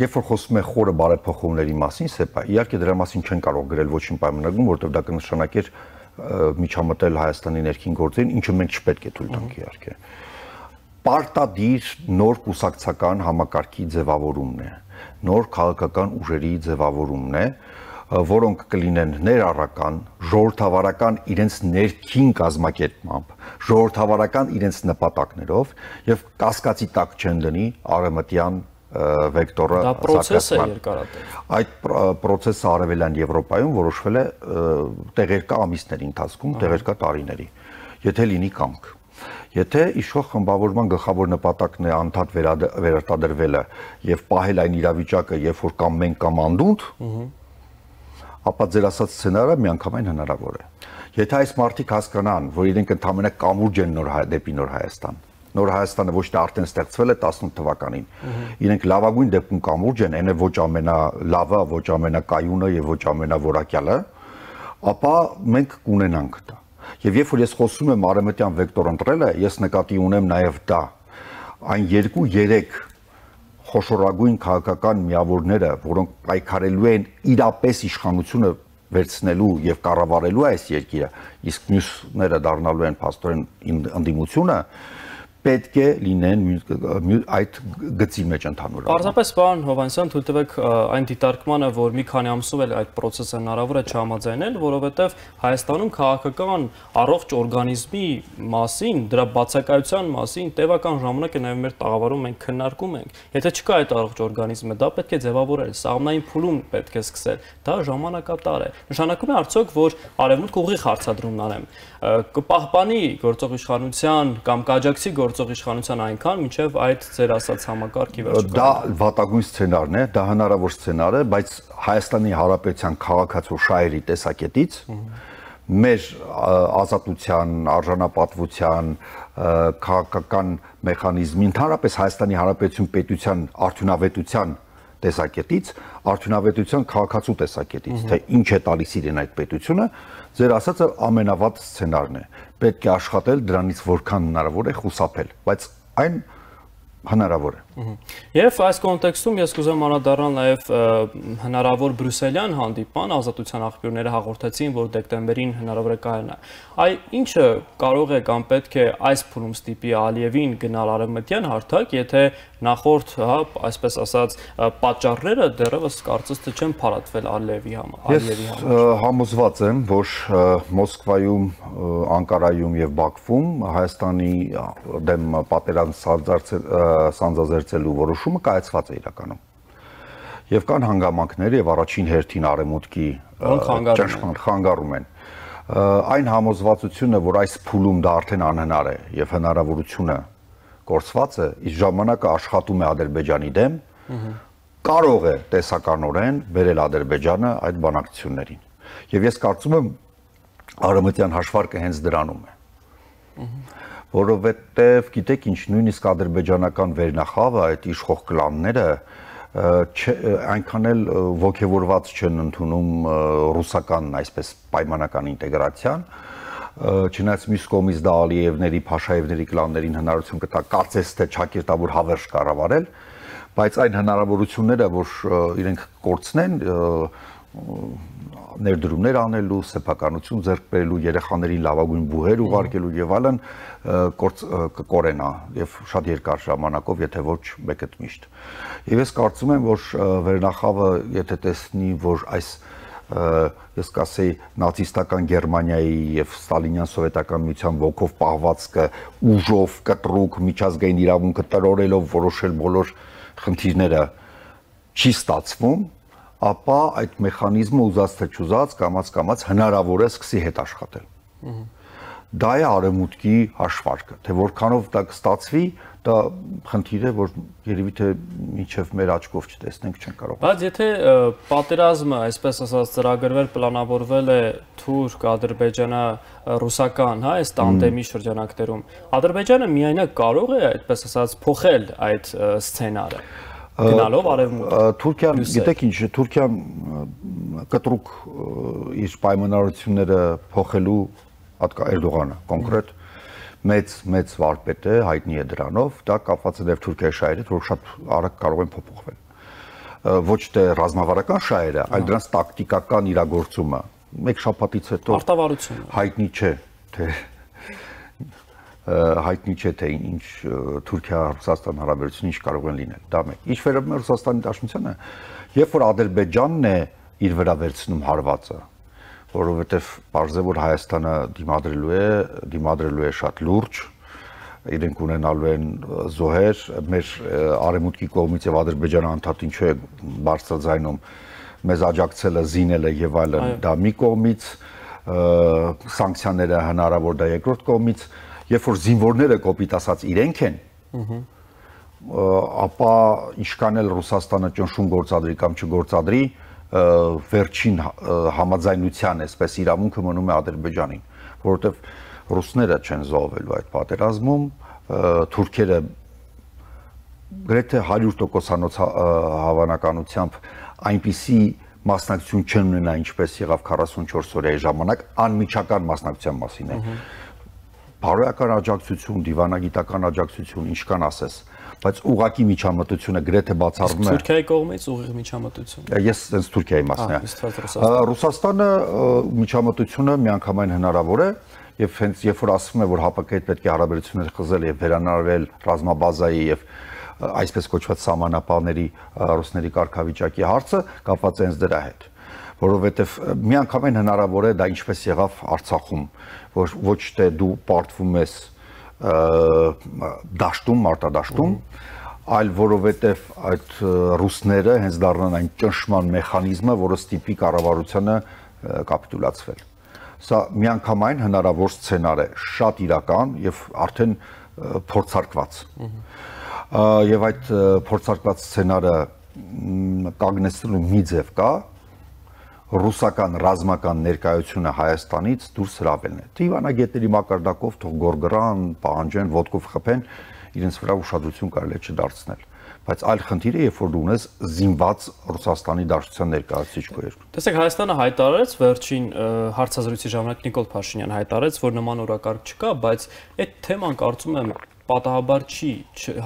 Երբ որ խոսում է խորը բարեփոխումների մասին, սեպա, իհարկե դրա մասին չեն կարող գրել ոչինչ պայմանագրում, որովհետև դա կնշանակեր միջամտել Հայաստանի ներքին գործերին, ինչը մենք չպետք է թույլ տանք իհարկե։ Պարտադիր նոր կուսակցական համակարգի ձևավորումն է, նոր քաղաքական ուժերի ձևավորումն է, որոնք կլինեն ներառական, ժողովրդավարական իրենց ներքին կազմակերպմամբ, ժողովրդավարական իրենց նպատակներով եւ կասկածի տակ չեն դնի արևմտյան վեկտորը զարգացման։ Այդ process-ը արևելյան Եվրոպայում որոշվել է տեղերկա ամիսների ընթացքում, տեղերկա տարիների, եթե լինի կամք։ Եթե իշխող խմբավորման գլխավոր նպատակն է անդադ վերարտադրվելը եւ պահել այն իրավիճակը, երբ որ կամ մենք կամ անդունդ, ապա ձեր ասած սցենարը միանգամայն հնարավոր է։ Եթե այս մարդիկ հասկանան, որ իրենք ընդհանրապես կամուրջ են նոր դեպի նոր Հայաստան, նոր Հայաստանը ոչ թե արդեն ստեղծվել է տասնութ թվականին, իրենք լավագույն դեպքում կամուրջ են, այն է ոչ ամենալավը, ոչ ամենակայունը եւ ոչ ամենավորակյալը, ապա մենք կունենանք դա։ Եվ երբ որ ես խոսում եմ արևմտյան վեկտոր ընտրելը, ես նկատի ունեմ նաեւ դա այն երկու-երեք խոշորագույն քաղաքական միավորները, որոնք պայքարելու են իրապես իշխանությունը վերցնելու եւ կառավարելու այս երկիրը, իսկ մյուսները դառնալու են փաստորեն ընդդիմությունը, պետք է լինեն այդ գծի մեջ ընդհանուր։ Պարզապես պարոն Հովհաննիսյան, թույլ տվեք այն դիտարկմանը, որ մի քանի ամսով էլ այդ process-ը հնարավոր է չհամաձայնել, որովհետև Հայաստանում քաղաքական առողջ օրգանիզմի մասին, դրա բացակայության մասին տևական ժամանակ է նաև մեր տաղավարում մենք քննարկում ենք։ Եթե չկա այդ առողջ օրգանիզմը, դա պետք է ձևավորել, սահմանային փուլում պետք է սկսել։ Դա ժամանակատար է։ Նշանակում է արդյոք, որ արևմուտքը ուղիղ հարցադրումն անեմ, կպահպանի գործող իշխանության կամ կաջակցի գործող իշխանության այնքան, մինչև այդ ձեր ասած համակարգի վերջը։ Դա վատագույն սցենարն է, դա հնարավոր սցենար է, բայց Հայաստանի Հանրապետության քաղաքացու շահերի տեսակետից մեր ազատության, արժանապատվության, քաղաքական մեխանիզմի, ընդհանրապես Հայաստանի Հանրապետություն պետության արդյունավետության տեսակետից, արդյունավետության քաղաքացու տեսակետից, թե ինչ է տալիս իրեն այդ պետությունը, ձեր ասածը ամենավատ սցենարն է։ Պետք է աշխատել դրանից որքան հնարավոր է խուսափել, բայց այն հնարավոր է։ Եվ այս կոնտեքստում ես կուզեմ անդրադառնալ նաև հնարավոր բրյուսելյան հանդիպման, ազատության աղբյուրները հաղորդեցին, որ դեկտեմբերին հնարավոր է կայանա։ Այ ինչը կարող է կամ պետք է այս փուլում ստիպի Ալիևին գնալ արևմտյան հարթակ, եթե նախորդ, հա, այսպես ասած, պատճառները դեռևս կարծես թե չեն փարատվել Ալիևի համար։ Ես համոզված եմ, որ Մոսկվայում, Անկարայում եւ Բաքվում Հայաստանի դեմ պատերազմ սանձազերծելու որոշումը կայացված է իրականում։ Եվ կան հանգամանքներ եւ առաջին հերթին արևմուտքի ճնշման խանգարում են։ Այն համոզվածությունը, որ այս փուլում դա արդեն անհնար է եւ հնարավորությունը կորցված է, իսկ ժամանակը աշխատում է Ադրբեջանի դեմ, կարող է տեսականորեն բերել Ադրբեջանը այդ բանակցություններին։ Եվ ես կարծում եմ արևմտյան հաշվարկը հենց դրանում է։ Որովհետև գիտեք ինչ, նույնիսկ ադրբեջանական վերնախավը, այդ իշխող կլանները այնքան էլ ոգևորված չեն ընդունում ռուսական, այսպես պայմանական ինտեգրացիան, չնայած մյուս կողմից դա Ալիևների, Փաշաևների կլաններին հնարավորություն կտա կարծես թե ճակերտավոր հավերժ կառավարել, բայց այն հնարավորությունները, որ իրենք կորցնեն, ներդրումներ անելու, սեփականություն ձեռք բերելու, երեխաներին լավագույն բուհեր ուղարկելու եւ այլն կկորենա եւ շատ երկար ժամանակով, եթե ոչ մեկ այդ միշտ։ Եվ ես կարծում եմ, որ վերնախավը, եթե տեսնի, որ այս ես կասեի նացիստական Գերմանիայի եւ Ստալինյան սովետական միության ոգով պահվածքը ուժով կտրուկ միջազգային իրավունքը տրորելով որոշել բոլոր խնդիրները չի ստացվում, ապա այդ մեխանիզմը ուզած թե չուզած կամաց-կամաց հնարավոր է սկսի հետ աշխատել։ Դա է արևմուտքի հաշվարկը, թե որքանով դա կստացվի, դա խնդիր է, որ երևի թե մինչև մեր աչքով չտեսնենք, չեն կարող։ Բայց եթե պատերազմը, այսպես ասած, ծրագրվել, պլանավորվել է թուրք, ադրբեջանա-ռուսական, հա, այս տանդեմի շրջանակներում, Ադրբեջանը միայնակ կարող է, այդպես ասած, փոխել այդ սցենարը։ Գնալով արևմուտք։ Թուրքիան, գիտեք ինչ, Թուրքիան կտրուկ իր պայմանավորությունները փոխելու Էրդողանը կոնկրետ մեծ մեծ վարպետ է, հայտնի է դրանով, դա կապված է նաև Թուրքիայի շահերից, որ շատ արագ կարող են փոփոխվել։ Ոչ թե ռազմավարական շահերը, այլ դրանց տակտիկական իրագործումը։ Մեկ շաբաթից հետո հայտնի չէ, թե հայտնի չէ թե ինչ Թուրքիա-Ռուսաստան հարաբերությունները ինչ կարող են լինել։ Դա մեկ։ Ինչ վերաբերում է Ռուսաստանի Դաշնությանը, երբ որ Ադրբեջանն է իր վրա վերցնում հարվածը, որովհետև պարզ է, որ Հայաստանը դիմադրելու է, դիմադրելու է շատ լուրջ, իրենք ունենալու են զոհեր, մեր արևմուտքի կողմից եւ Ադրբեջանը անդադար ինչու է բարձրաձայնում մեզ աջակցելը, զինելը եւ այլն, դա մի կողմից, սանկցիաները հնարավոր դա երկրորդ կողմից, երբ որ զինվորները կոպիտ ասած իրենք են, ապա ինչքան էլ Ռուսաստանը ճնշում գործադրի կամ չգործադրի, վերջին համաձայնության այսպես իրավունքը մնում է Ադրբեջանին, որովհետև ռուսները չեն զոհվելու այդ պատերազմում, թուրքերը գրեթե հարյուր տոկոսանոց հավանականությամբ այնպիսի մասնակցություն չեն ունենա, ինչպես եղավ քառասունչորս օրյայի ժամանակ, անմիջական մասնակցության մասին է։ Բարոյական աջակցություն, դիվանագիտական աջակցություն, ինչ կան ասես, բայց ուղղակի միջամտությունը գրեթե բացառվում է։ Թուրքիայի կողմից ուղիղ միջամտություն։ Ես հենց Թուրքիայի մասն եմ։ Ռուսաստանը միջամտությունը միանգամայն հնարավոր է, եւ հենց երբ որ ասվում է, որ ՀԱՊԿ-ի հետ պետք է հարաբերություններ խզել եւ վերանորոգել ռազմաբազայի եւ այսպես կոչված սահմանապահների ռուսների կարգավիճակի հարցը կապված է հենց դրա հետ, որովհետեւ միանգամայն հնարավոր է դա ինչպես եղավ Արցախում, որ ոչ թե դու պարտվում ես դաշտում, մարտադաշտում, այլ որովհետև այդ ռուսները հենց դառնան այն ճնշման մեխանիզմը, որը ստիպի կառավարությանը կապիտուլացվել։ Սա միանգամայն հնարավոր սցենար է, շատ իրական եւ արդեն փորձարկված։ Եվ այդ փորձարկված սցենարը կանգնեցնելու մի ձև կա, ռուսական ռազմական ներկայությունը Հայաստանից դուրս հրավելն է։ Դիվանագետների մակարդակով թող գորգռան, պահանջեն, ոտքով խփեն, իրենց վրա ուշադրություն կարելի է չդարձնել։ Բայց այլ խնդիր է, երբ որ դու ունես զինված Ռուսաստանի Դաշնության ներկայացուցիչ քո երկրում։ Տեսեք, Հայաստանը հայտարարեց վերջին հարցազրույցի ժամանակ Նիկոլ Փաշինյանը հայտարարեց, որ նման օրակարգ չկա, բայց այդ թեման կարծում եմ պատահաբար չի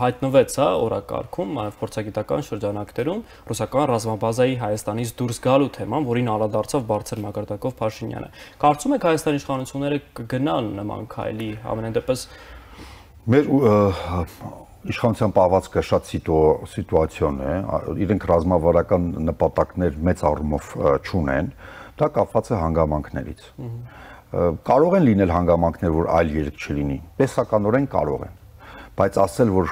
հայտնվեց, հա, օրակարգում, նաև փորձագիտական շրջանակներում ռուսական ռազմաբազայի Հայաստանից դուրս գալու թեման, որին անդրադարձավ բարձր մակարդակով Փաշինյանը։ Կարծում եք Հայաստանի իշխանությունները կգնան նման քայլի, ամենայն դեպս մեր իշխանության պահվածքը շատ սիտուացիոն է, իրենք ռազմավարական նպատակներ մեծ առումով չունեն, դա կապված է հանգամանքներից։ Կարող են լինել հանգամանքներ, որ այլ երկ չլինի, տեսականորեն կարող են, բայց ասել, որ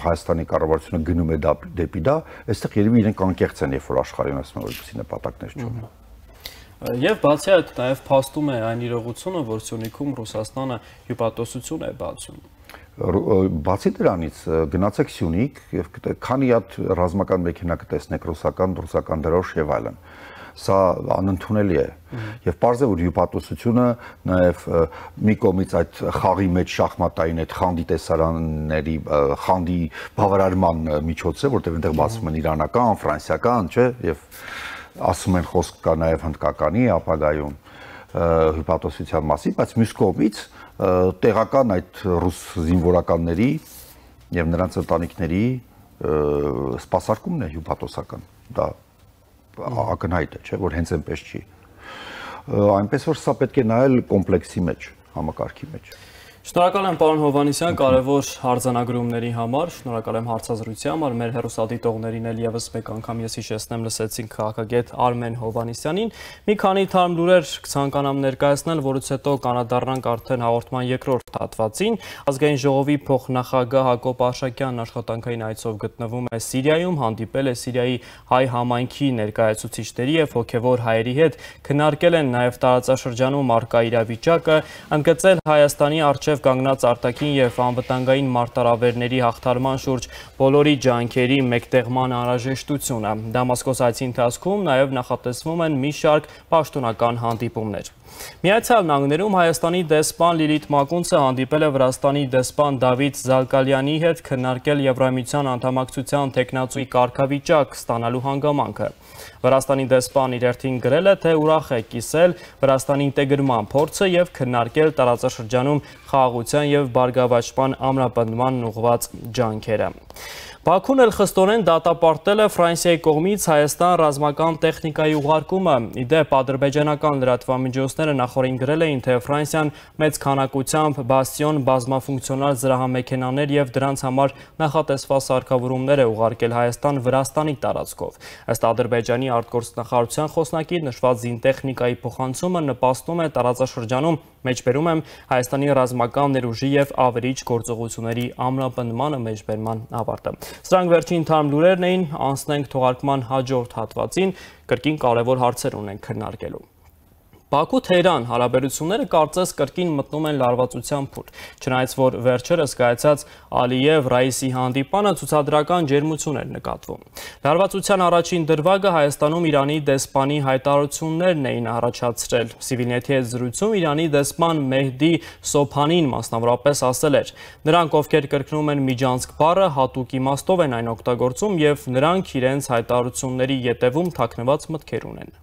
Հայաստանի կառավարությունը գնում է դեպի դա, այստեղ երևի իրենք անկեղծ են, երբ որ աշխարհին ասում են, որ որպեսզի նպատակներ չունեն։ Եվ բացի այդ նաև փաստում է այն իրողությունը, որ Սյունիքում Ռուսաստանը հյուպատոսություն է բացում։ Բացի դրանից գնացեք Սյունիք եւ քանի հատ ռազմական մեքենա կտեսնեք ռուսական, ռուսական դրոշ եւ այլն։ Սա անընդունելի է եւ պարզ է, որ հյուպատոսությունը նաեւ մի կողմից այդ խաղի մեջ շախմատային այդ խանդի տեսարանների խանդի բավարարման միջոց է, որտեղ այնտեղ բացվում են իրանական, ֆրանսիական, չէ, եւ ասում են խոսք կա նաեւ հնդկականի ապագայում հյուպատոսության մասին, բայց մյուս կողմից տեղական այդ ռուս զինվորականների եւ նրանց ընտանիքների սպասարկումն է հյուպատոսական, դա ակնհայտ է, չէ, որ հենց այնպես չի։ Այնպես որ սա պետք է նայել կոմպլեքսի մեջ, համակարգի մեջ։ Շնորհակալ եմ պարոն Հովհաննիսյան, կարևոր արձանագրումների համար, շնորհակալ եմ հարցազրույցի համար, մեր հեռուստադիտողներին էլ եւս մեկ անգամ ես հիշեցնեմ լսեցինք քաղաքագետ Արմեն Հովհաննիսյանին։ Մի քանի թարմ լուրեր կցանկանամ ներկայացնել, որից հետո կանադառնանք արդեն հաղորդման երկրորդ հատվածին։ Ազգային ժողովի փոխնախագահ Հակոբ Արշակյանն աշխատանքային այցով գտնվում է Սիրիայում, հանդիպել է Սիրիայի հայ համայնքի ներկայացուցիչների եւ հոգեվոր հայերի հետ, քննարկել են նաեւ տարածաշրջանում առկա իրավիճակը, ընդգծել Հայաստանի առջև կանգնած արտաքին եւ անվտանգային մարտահրավերների հաղթարման շուրջ բոլորի ջանքերի մեկտեղման անհրաժեշտությունը։ Դամասկոս այցի ընթացքում նաեւ նախատեսվում են մի շարք պաշտոնական հանդիպումներ։ Միացյալ Նահանգներում Հայաստանի դեսպան Լիլիթ Մակունցը հանդիպել է Վրաստանի դեսպան Դավիթ Զալկալյանի հետ, քննարկել Եվրամիության անդամակցության տեխնացուի կարգավիճակ ստանալու հանգամանքը։ Վրաստանի դեսպան իր հերթին գրել է, թե ուրախ է կիսել Վրաստանի ինտեգրման փորձը եւ քննարկել տարածաշրջանում խաղաղության եւ բարգավաճման ամրապնդման ուղղված ջանքերը։ Բաքուն էլ խստորեն դատապարտել է Ֆրանսիայի կողմից Հայաստան ռազմական տեխնիկայի ուղարկումը։ Իդեպ ադրբեջանական լրատվամիջոցները նախորդին գրել էին, թե Ֆրանսիան մեծ քանակությամբ բաստիոն բազմաֆունկցիոնալ զրահամեքենաներ եւ դրանց համար նախատեսված սարքավորումներ է ուղարկել Հայաստան Վրաստանի տարածքով։ Ըստ Ադրբեջանի արտգործնախարարության խոսնակի նշված զինտեխնիկայի փոխանցումը նպաստում է տարածաշրջանում մեջբերում եմ Հայաստանի ռազմական ներուժի եւ ավերիչ գործողությունների ամրապնդմանը մեջբերման ավարտը։ Սրանք վերջին թարմ լուրերն էին, անցնենք թողարկման հաջորդ հատվածին, կրկին կարևոր հարցեր ունենք քննարկելու։ Բաքու-Թեհրան հարաբերությունները կարծես կրկին մտնում են լարվածության փուլ, չնայած որ վերջերս կայացած Ալիև-Ռայիսի հանդիպանը ցուցադրական ջերմություն էր նկատվում։ Լարվածության առաջին դրվագը Հայաստանում Իրանի դեսպանի հայտարարություններն էին առաջացրել։ Civilnet-ի հետ զրույցում Իրանի դեսպան Մեհդի Սոփանին մասնավորապես ասել էր. նրանք, ովքեր կրկնում են միջանցք բառը, հատուկ իմաստով են այն օգտագործում եւ նրանք իրենց հայտարարությունների ետևում թաքնված մտքեր ունեն։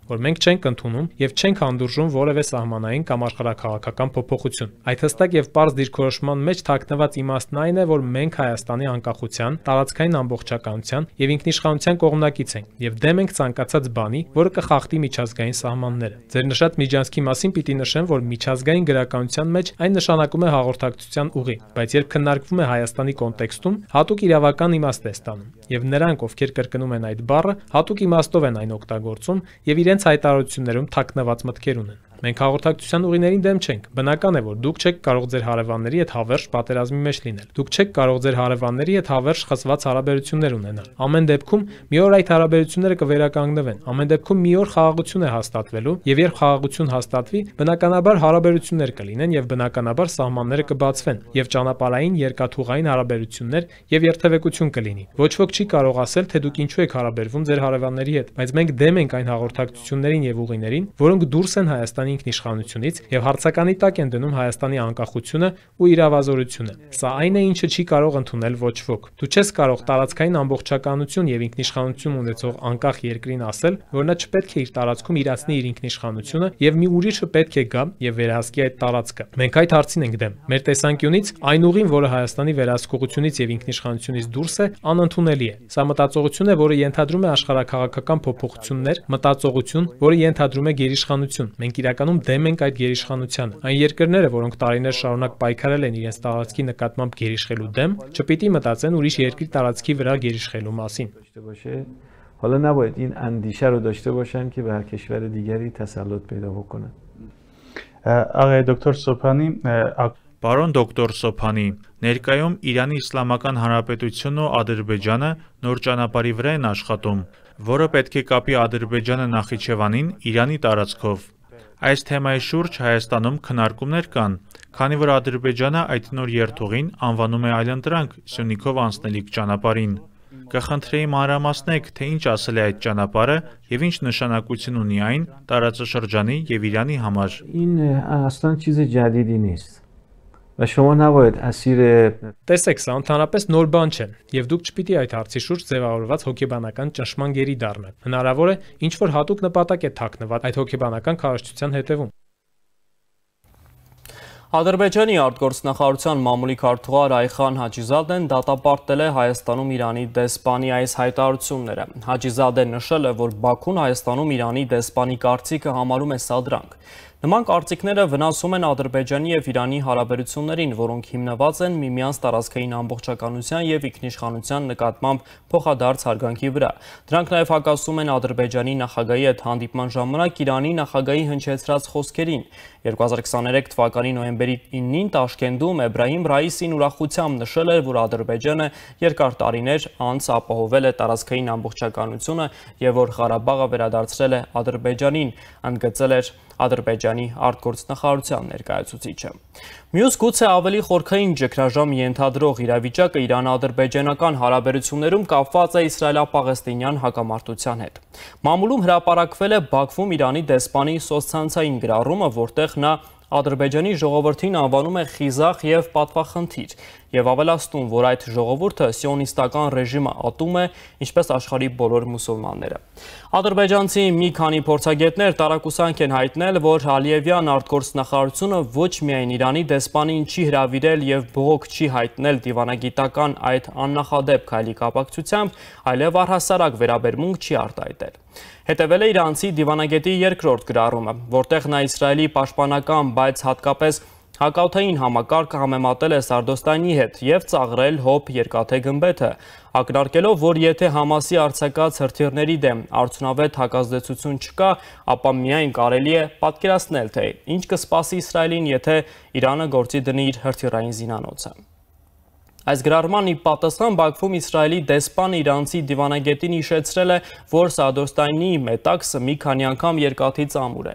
Որ մենք չենք ընդունում եւ չենք հանդուրժում որևէ սահմանային կամ աշխարհաքաղաքական փոփոխություն։ Այդ հստակ եւ պարզ դիրքորոշման մեջ թաքնված իմաստն այն է, որ մենք Հայաստանի անկախության, տարածքային ամբողջականության եւ ինքնիշխանության կողմնակից ենք եւ դեմ ենք ցանկացած բանի, որը կխախտի միջազգային սահմանները։ Ձեր նշած միջանցքի մասին պիտի նշեմ, որ միջազգային գրականության մեջ այն նշանակում է հաղորդակցության ուղի, բայց երբ քննարկվում է Հայաստանի կոնտեքստում, հատուկ իրավական իմաստ է ստանում եւ նրանք, ովքեր կրկնում են այդ բառը, հատուկ իմաստով են այն օգտագործում եւ իրենց հայտարարություններում թաքնված մտքեր ունեն։ Մենք հաղորդակցության ուղիներին դեմ չենք։ Բնական է, որ դուք չեք կարող ձեր հարևանների հետ հավերժ պատերազմի մեջ լինել։ Դուք չեք կարող ձեր հարևանների հետ հավերժ խզված հարաբերություններ ունենալ։ Ամեն դեպքում մի օր այդ հարաբերությունները կվերականգնվեն։ Ամեն դեպքում մի օր խաղաղություն է հաստատվելու, եւ երբ խաղաղություն հաստատվի, բնականաբար հարաբերություններ կլինեն եւ բնականաբար սահմանները կբացվեն եւ ճանապարհային երկաթուղային հարաբերություններ եւ երթևեկություն կլինի։ Ոչ ոք չի կարող ասել, թե դուք ինչու եք հարաբերվում ձեր հարևանների հետ, բայց մենք դեմ ենք այն հաղորդակցություններին եւ ուղիներին, որոնք դուրս են Հայաստանի ինքնիշխանությունից եւ հարցականի տակ են դնում Հայաստանի անկախությունը ու իրավազորությունը։ Սա այն է, ինչը չի կարող ընդունել ոչ ոք։ Դու չես կարող տարածքային ամբողջականություն եւ ինքնիշխանություն ունեցող անկախ երկրին ասել, որ նա չպետք է իր տարածքում իրացնի իր ինքնիշխանությունը եւ մի ուրիշը պետք է գա եւ վերահսկի այդ տարածքը։ Մենք այդ հարցին ենք դեմ։ Մեր տեսանկյունից այն ուղին, որը Հայաստանի վերահսկողությունից եւ ինքնիշխանությունից դուրս է, անընդունելի է։ Սա մտածողություն է, որը ենթադրում է աշխարհաքաղաքական փոփոխություններ, մտածողություն, որը ենթադրում է գերիշխանություն։ Մենք իրականում դեմ ենք այդ գերիշխանությանը։ Այն երկրները, որոնք տարիներ շարունակ պայքարել են իրենց տարածքի նկատմամբ գերիշխելու դեմ, չպիտի մտածեն ուրիշ երկրի տարածքի վրա գերիշխելու մասին։ حالا نباید این اندیشه رو داشته باشن که بر کشور دیگری تسلط پیدا بکنن. آقای دکتر سوپانی Պարոն դոկտոր Սոփանի, ներկայում Իրանի Իսլամական Հանրապետությունն ու Ադրբեջանը նոր ճանապարհի վրա են աշխատում, որը պետք է կապի Ադրբեջանը Նախիջևանին Իրանի տարածքով։ Այս թեմայի շուրջ Հայաստանում քննարկումներ կան, քանի որ Ադրբեջանը այդ նոր երթուղին անվանում է այլընտրանք Սյունիքով անցնելիք ճանապարհին։ Կխնդրեի մանրամասնեք, թե ինչ ասել է այդ ճանապարհը եւ ինչ նշանակություն ունի այն տարածաշրջանի եւ Իրանի համար։ این اصلا چیز جدیدی نیست. و شما نباید اسیر Տեսեք, սա ընդհանրապես նոր բան չէ, եւ դուք չպիտի այդ հարցի շուրջ ձևավորված հոգեբանական ճնշման գերի դառնալ։ Հնարավոր է ինչ որ հատուկ նպատակ է թաքնված այդ հոգեբանական քարոզչության հետևում։ Ադրբեջանի արտգործնախարարության մամուլի քարտուղար Այխան Հաջիզադեն դատապարտել է Հայաստանում Իրանի դեսպանի այս հայտարարությունները։ Հաջիզադեն նշել է, որ Բաքուն Հայաստանում Իրանի դեսպանի կարծիքը համարում է սադրանք։ Նման կարծիքները վնասում են Ադրբեջանի և Իրանի հարաբերություններին, որոնք հիմնված են միմյանց տարածքային ամբողջականության և ինքնիշխանության նկատմամբ փոխադարձ հարգանքի վրա։ Դրանք նաև հակասում են Ադրբեջանի նախագահի հետ հանդիպման ժամանակ Իրանի նախագահի հնչեցրած խոսքերին։ երկու հազար քսաներեք թվականի նոյեմբերի իննին Տաշկենտում Էբրահիմ Ռայիսին ուրախությամբ նշել էր, որ Ադրբեջանը երկար տարիներ անց ապահովել է տարածքային ամբողջականությունը և որ Ղարաբաղը վերադարձրել է Ադրբեջանին, ընդգծել էր Ադրբեջանի արտգործնախարարության ներկայացուցիչը։ Մյուս գուցե ավելի խորքային ճգնաժամ ենթադրող իրավիճակը Իրան-ադրբեջանական հարաբերություններում կապված է իսրայելա-պաղեստինյան հակամարտության հետ։ Մամուլում հրապարակվել է Բաքվում Իրանի դեսպանի սոցցանցային գրառումը, որտեղ նա Ադրբեջանի ժողովրդին անվանում է խիզախ և պատվախնդիր և ավելացնում, որ այդ ժողովուրդը սիոնիստական ռեժիմը ատում է, ինչպես աշխարհի բոլոր մուսուլմանները։ Ադրբեջանցի մի քանի փորձագետներ տարակուսանք են հայտնել, որ Ալիևյան արտգործնախարարությունը ոչ միայն Իրանի դեսպանին չի հրավիրել և բողոք չի հայտնել դիվանագիտական այդ աննախադեպ քայլի կապակցությամբ, այլև առհասարակ վերաբերմունք չի արտահայտել։ Հետևել է իրանցի դիվանագետի երկրորդ գրառումը, որտեղ նա Իսրայելի պաշտպանական, բայց հատկապես հակաօդային համակարգը համեմատել է Սարդոստանի հետ և ծաղրել հոբ երկաթե գմբեթը, ակնարկելով, որ եթե Համասի արձակած հրթիռների դեմ արդյունավետ հակազդեցություն չկա, ապա միայն կարելի է պատկերացնել, թե ինչ կսպասի Իսրայելին, եթե Իրանը գործի դնի իր հրթիռային զինանոցը։ Այս գրառման ի պատասխան Բաքվում Իսրայելի դեսպանը իրանցի դիվանագետին հիշեցրել է, որ Սարդոստանի մետաքսը մի քանի անգամ երկաթից ամուր է։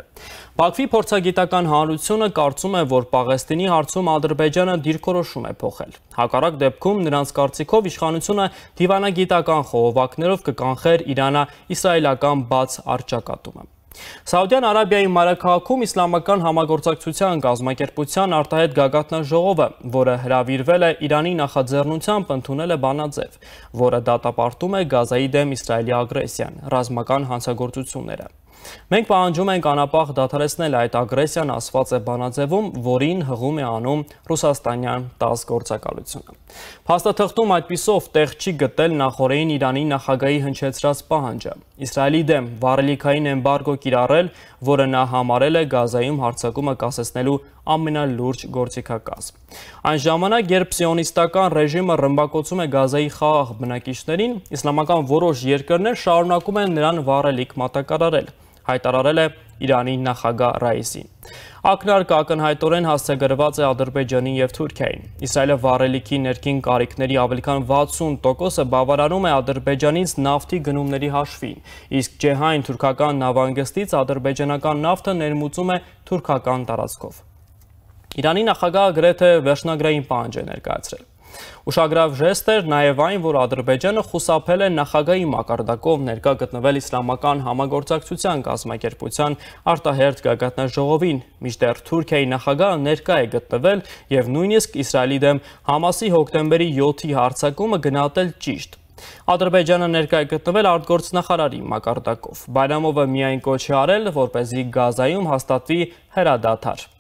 Բաքվի փորձագիտական հանրությունը կարծում է, որ Պաղեստինի հարցում Ադրբեջանը դիրքորոշում է փոխել։ Հակառակ դեպքում նրանց կարծիքով իշխանությունը դիվանագիտական խողովակներով կկանխեր Իրано-իսրայելական բաց առճակատումը։ Սաուդյան Արաբիայի մայրաքաղաքում Իսլամական համագործակցության կազմակերպության արտահայտ գագաթնաժողովը, որը հրավիրվել է Իրանի նախաձեռնությամբ, ընդունել է բանաձև, որը դատապարտում է Գազայի դեմ Իսրայելի ագրեսիան, ռազմական հանցագործությունները։ Մենք պահանջում ենք անապահ դադարեցնել այդ ագրեսիան, ասված է բանաձևում, որին հղում է անում ռուսաստանյան տաս գործակալությունը։ Փաստաթղթում այդպիսով տեղ չի գտել նախօրեին Իրանի նախագահի հնչեցրած պահանջը՝ Իսրայելի դեմ վառելիքային էմբարգո կիրառել, որը նա համարել է Գազայում հարձակումը կասեցնելու ամենալուրջ գործիքակազմ։ Այն ժամանակ, երբ սիոնիստական ռեժիմը ռմբակոծում է Գազայի խաղաղ բնակիչներին, իսլամական որոշ երկրներ շարունակում են նրան վառելիք մատակարարել, հայտարարել է Իրանի նախագահ Ռայիսին։ Ակնարկը ակնհայտորեն հասցեագրված է Ադրբեջանի և Թուրքիային։ Իսրայելը վառելիքի ներքին կարիքների ավելի քան վաթսուն տոկոսը բավարարում է Ադրբեջանից նավթի գնումների հաշվին, իսկ Ջեհայն թուրքական նավահանգստից ադրբեջանական նավթը ներմուծում է թուրքական տարածքով։ Իրանի նախագահը գրեթե վերջնագրային պահանջ է ներկայացրել։ Ուշագրավ ժեստ էր նաև այն, որ Ադրբեջանը խուսափել է նախագահի մակարդակով ներկա գտնվել Իսլամական համագործակցության կազմակերպության արտահերթ գագաթնաժողովին, մինչդեռ Թուրքիայի նախագահը ներկա է գտնվել և նույնիսկ Իսրայելի դեմ Համասի հոկտեմբերի յոթի հարձակումը գնահատել ճիշտ։ Ադրբեջանը ներկա է գտնվել արտգործնախարարի մակարդակով։ Բայրամովը միայն կոչ է արել, որպեսզի Գազայում հաստատվի հրադադար։